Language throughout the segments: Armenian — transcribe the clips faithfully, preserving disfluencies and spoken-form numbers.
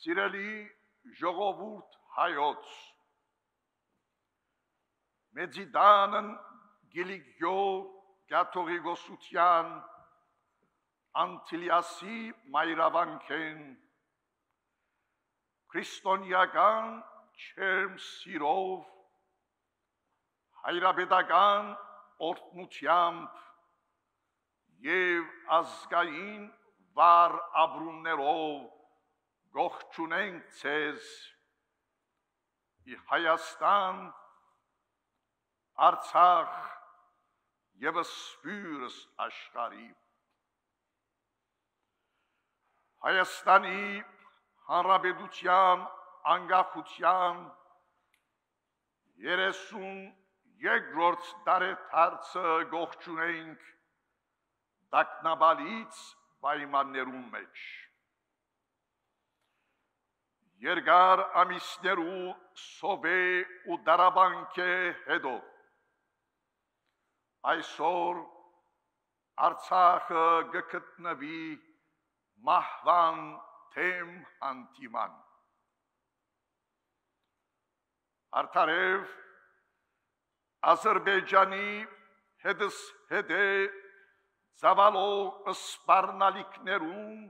Սիրելի ժողովուրդ հայոց, մեծիդանն գիլիգյո գաթողիկոսության անտիլիասի մայրավանքեն, քրիստոնեական չերմ սիրով, հայրապետական օրհնությամբ և ազգային վառ ապրումներով գողջունենք ձեզ ի Հայաստան, Արցախ և սփյուռս աշխարհի։ Հայաստանի Հանրապետության անկախության երեսուն երկրորդ տարեդարձը գողջունենք տագնապալից պայմաններում մեջ։ Երկար ամիսներու սովե ու դարաբանքե հետո այսօր Արցախը գտնվի մահվան թեմ հանդիման։ Արդարև Ադրբեջանի հետս հետե ծավալող սպառնալիքներուն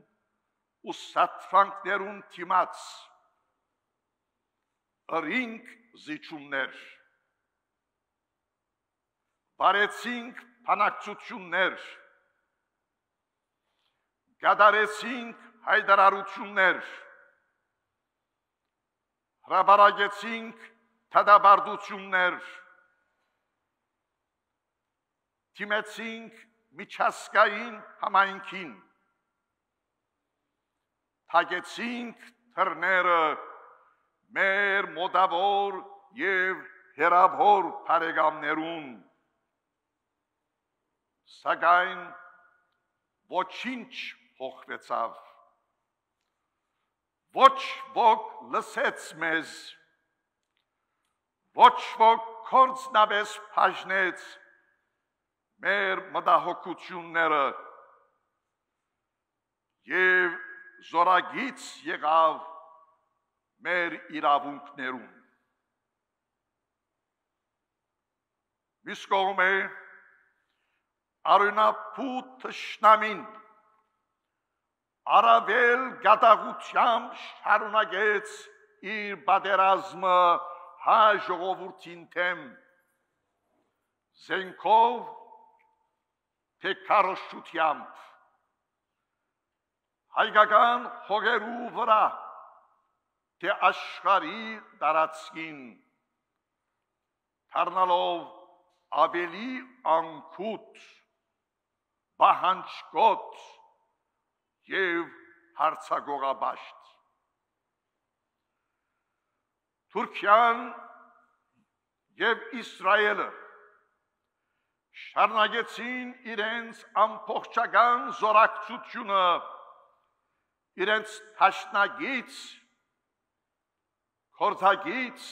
ու սատրանքներուն թիմաց ըրինք զիջումներ, բարեցինք բանակցություններ, գադարեցինք հայտարարություններ, հրապարակեցինք դատապարտություններ, թիմեցինք միջազգային համայնքին, թագեցինք դռները մեր մոտավոր և հեռավոր բարեկամներուն, սակայն ոչինչ փոխվեցավ, ոչ ոք լսեց մեզ, ոչ ոք կործնաբես բաժնեց մեր մտահոգությունները և զորագից եղավ մեր իրավունքներում։ Մյուս կողմէ արյունապուտ թշնամին առավել գատաղությամբ շարունակեց իր պատերազմը հայ ժողովրդին դեմ, զենքով թե քարոզչությամբ, հայկական հողերու վրա թե աշխարհի տարածքին, դառնալով ավելի անկութ, պահանջկոտ և հարձակողաբաշտ։ Թուրքիան և Իսրայելը շարունակեցին իրենց ամբողջական զորակցությունը իրենց դաշնակից, գործակից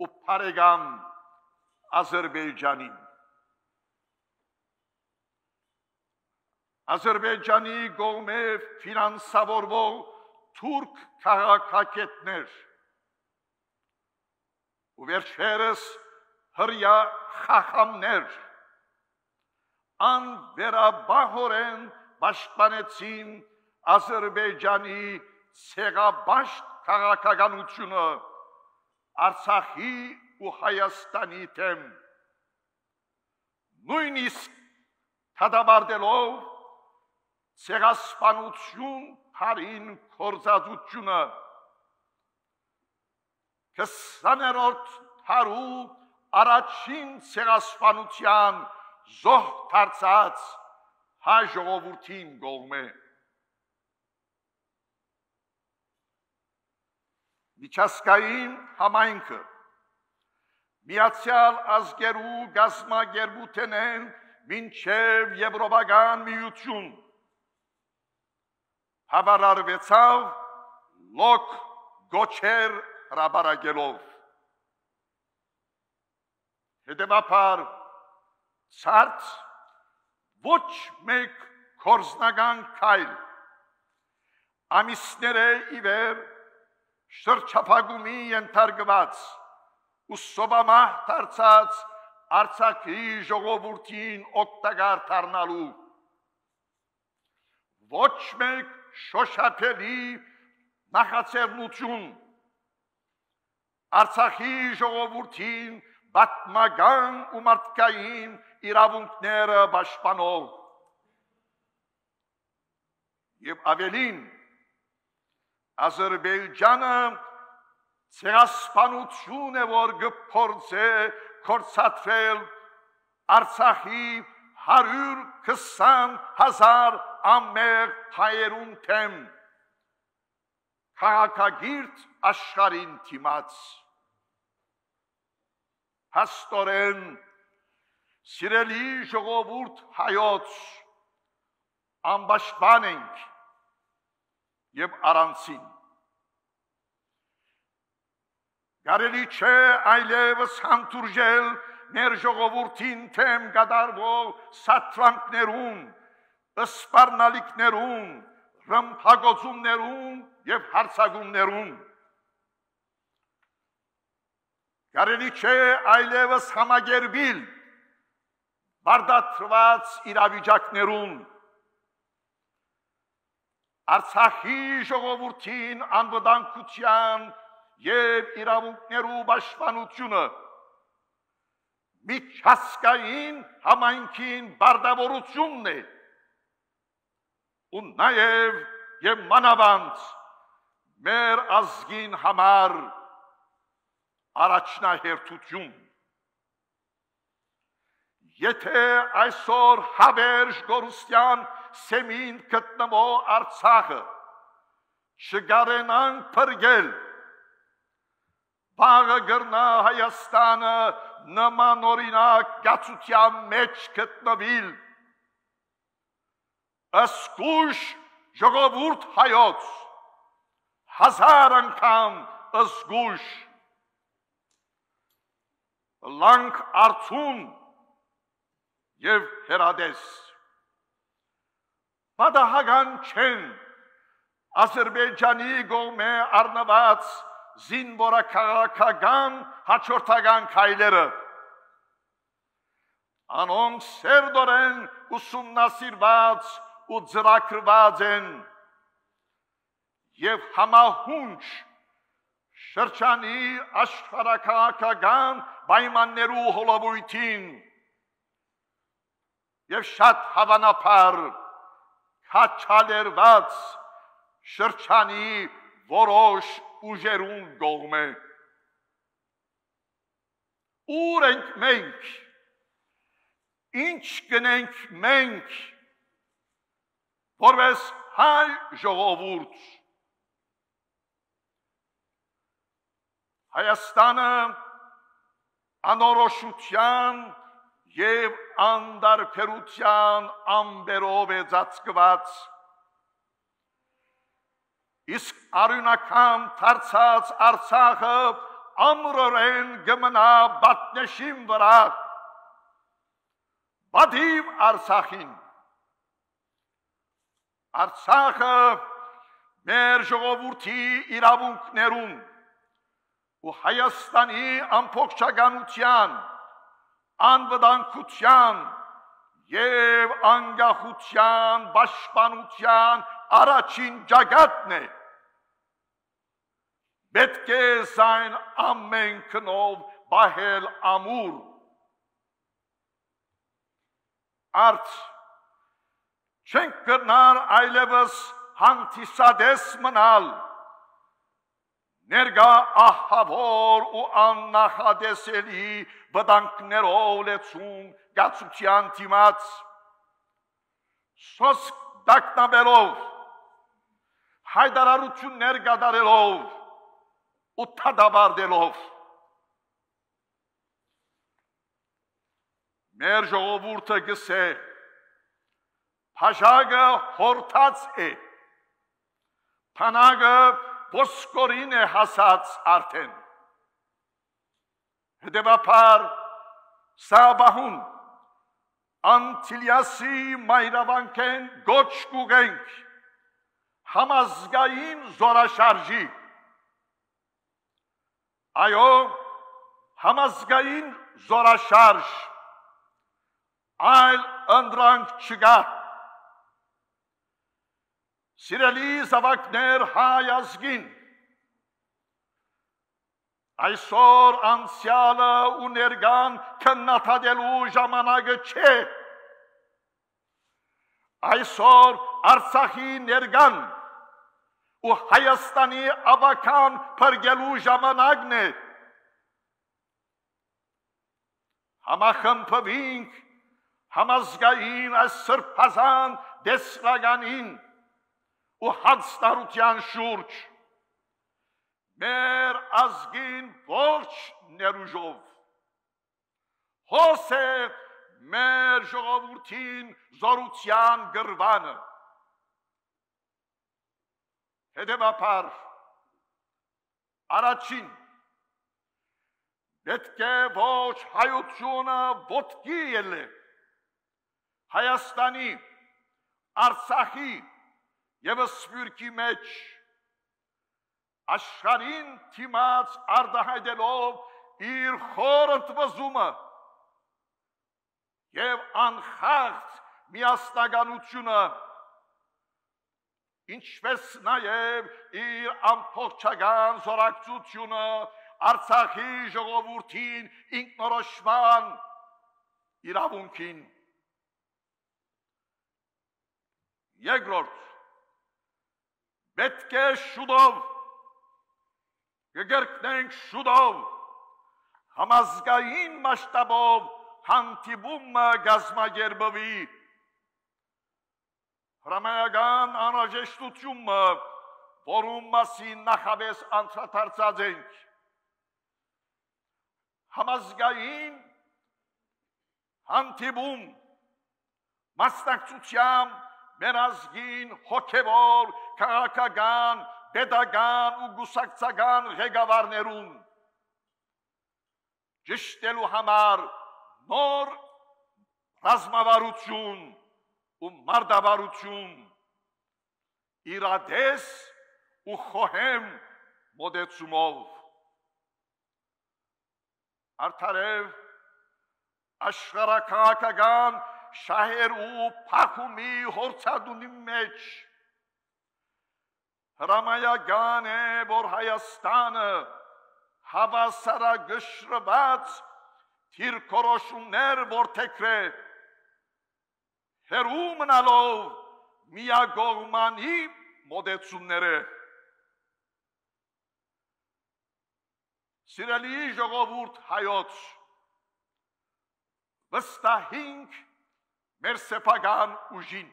ու բարեկամ Ադրբեջանին։ Ադրբեջանի կողմէ ֆինանսավորվող թուրք քաղաքագետներ ու վերջերս հրյա խախամներ անվերապահորեն պաշտպանեցին Ադրբեջանի ցեղաբաշտ քաղաքականությունը Արցախի ու Հայաստանի դեմ, նույնիսկ դատապարտելով ցեղասպանություն հարին գործածությունը, քսաներորդ դարու առաջին ցեղասպանության զոհ դարձած հայ ժողովրդին կողմէ։ Միջազգային համայնքը Միացյալ Ազգերու գազմագերբութենեն մինչև Եվրոպական միություն հավարարվեցավ լոկ գոչեր հրապարակելով։ Հետևաբար ցարտ ոչ մեկ գործնական քայլ ամիսները ի վեր շրջափակումի ենթարկված ու սովամահ դարձած Արցախի ժողովրդին օգտակար դառնալու ոչ մեկ շոշափելի նախաձեռնություն Արցախի ժողովրդին պատմական ու մարդկային իրավունքները պաշտպանող եւ ավելին Ադրբեջանը ցեղասպանություն է որ գործե կորցածել Արցախի հարյուր քսան հազար ամեղ հայերուն թեմ քաղաքագիրտ աշխարհին թիմած հաստորեն սիրելի ժողովուրդ հայոց անպաշտպան ենք եւ առանցին Կարելի չէ այլևս հանդուրժել մեր ժողովրդին թեմ կատարվող սատրանքներուն, սպառնալիքներուն, ռմբակոծումներուն եւ հարձակումներուն։ Կարելի չէ այլևս համագերբիլ բարդացված իրավիճակներուն Արցախի ժողովրդին անվտանգության եւ իրավունքներու պաշտպանությունը միջազգային համայնքին բարդավորությունն է ու նաեւ եւ մանավանդ մեր ազգին համար առաջնահերթություն Եթե այսօր հավերժ գորուստյան սեմին գտնվող Արցախը չգարենան փրկել Բաղը գրնա Հայաստանը նման օրինակ գացության մեջ գտնվիլ Ասկուշ ժողովուրդ հայոց հազար անգամ ասկուշ լանք արցուն եւ հերադես Պատահական չեն Ադրբեջանի գոմե առնված զինվորաքաղաքական հաջորդական քայլերը անոնք սերդորեն ուսումնասիրված ու ծրագրված են եւ համահունչ շրջանի աշխարհաքաղաքական պայմաններու հոլովույթին եւ շատ հավանաբար քաչալերված շրջանի որոշ ուժերուն գողմե ուր ենք մենք ինչ գնենք մենք որպես հայ ժողովուրդ Հայաստանը անորոշության եւ անդարբերության ամբերով է ծածկված Իսկ արյունական դարձած Արցախը ամրորեն գմնա բատնեշին վրա բադիվ Արցախին Արցախը մեր ժողովրդի իրավունքներուն ու Հայաստանի ամբողջականության անվտանգության եւ անկախության պաշտպանության առաջին ճակատն է պետք է զայն ամեն քնով բահել ամուր արդ չենք կրնար այլևս հանդիսադես մնալ ներգա ահավոր ու աննախադեսելի վտանգներով լեցուն գացության դիմաց սոսկ դակնաբերով հայդարարություններ կատարելով ու թադաբարդելով մեր ժողովուրդը գսե փաշագը հորթած է փանագը ոսկորին է հասած արդեն հետևաբար սաբահուն Անտիլիասի մայրավանքեն գոչ կուգենք համազգային զորաշարժի Այո, համազգային զորաշարժ, այլ ընդրանք չկա։ Սիրելի զավակներ հայ ազգին, այսօր անցյալը ու ներկան քննադատելու ժամանակը չէ։ Այսօր Արցախի ներկան ու Հայաստանի ավական փրկելու ժամանակն է։ Համախմբվենք համազգային այս սրբազան դեսրականին ու հանձնարարության շուրջ, մեր ազգին ողջ ներուժով, հոս է մեր ժողովրդին զորության գրվանը։ Հետևաբար, առաջին, պետք է ոչ հայությունը ոտքի ելե, Հայաստանի, Արցախի և Սփյուռքի մեջ, աշխարհին դիմաց արտահայտելով իր խոր ընդվզումը և անխախտ միասնականությունը, ինչպես նաև իր ամբողջական զորակցությունը Արցախի ժողովրդին ինքնորոշման իրավունքին։ Երկրորդ, պետք է շուտով կգրկնենք շուտով համազգային մասշտաբով հանդիպումը կազմակերպվի, հրամայական անհրաժեշտությունը, որում մասին նախապես անդրադարձած ենք, համազգային հանդիպում մասնակցությամբ մեր ազգին հոգևոր, քաղաքական, պետական ու գուսակցական ղեկավարներուն ճշտելու համար նոր ռազմավարություն ու մարտավարություն, իրադես ու խոհեմ մոտեցումով։ Արդարև աշխարհաքաղաքական շահեր ու փախումի հորձադունի մեջ հրամայական է, որ Հայաստանը հավասարագշռված դիրքորոշումներ որդեգրե, հեռու մնալով միակողմանի մոտեցումները։ Սիրելի ժողովուրդ հայոց, վստահենք մեր սեփական ուժին,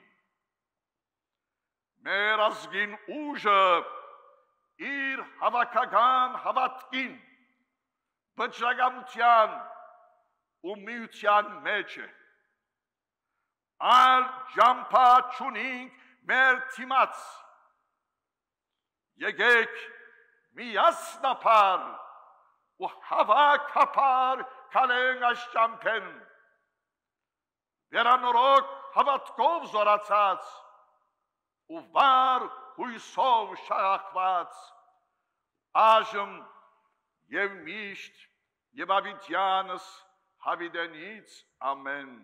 մեր ազգին ուժը իր հավաքական հավատքին, վճռականության ու միության մեջ է։ Այլ ջամփա չունենք մեր թիմաց, եկեք միասնապար ու հավաքապար քալենք այս ջամփեն, վերանորոգ հավատքով զորացած ու վառ հույսով շաղախված, այժմ և միշտ և ավիտյանս հավիտենից ամեն։